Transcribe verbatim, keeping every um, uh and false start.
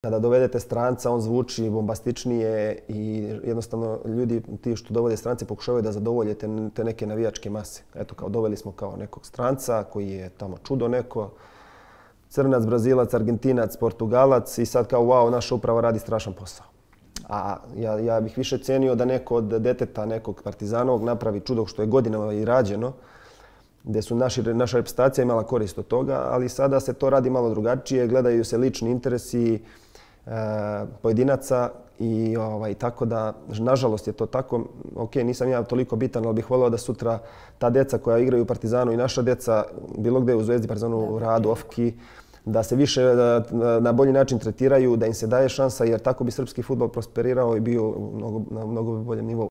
Kada dovedete stranca, on zvuči bombastičnije i jednostavno ljudi ti što dovode strance pokušavaju da zadovolje te, te neke navijačke mase. Eto, kao doveli smo kao nekog stranca koji je tamo čudo neko, Crnac, Brazilac, Argentinac, Portugalac i sad kao wow, naša uprava radi strašan posao. A ja, ja bih više cenio da neko od deteta nekog Partizanovog napravi čudo što je godinama i rađeno, gdje su naši, naša reprezentacija imala korist od toga, ali sada se to radi malo drugačije, gledaju se lični interesi e, pojedinaca i ovaj, tako da, nažalost je to tako. Ok, nisam ja toliko bitan, ali bih volio da sutra ta deca koja igraju u Partizanu i naša deca, bilo gdje u Zvezdi, Partizanu, u Radu, Ofki, da se više na bolji način tretiraju, da im se daje šansa, jer tako bi srpski fudbal prosperirao i bio mnogo, na mnogo boljem nivou.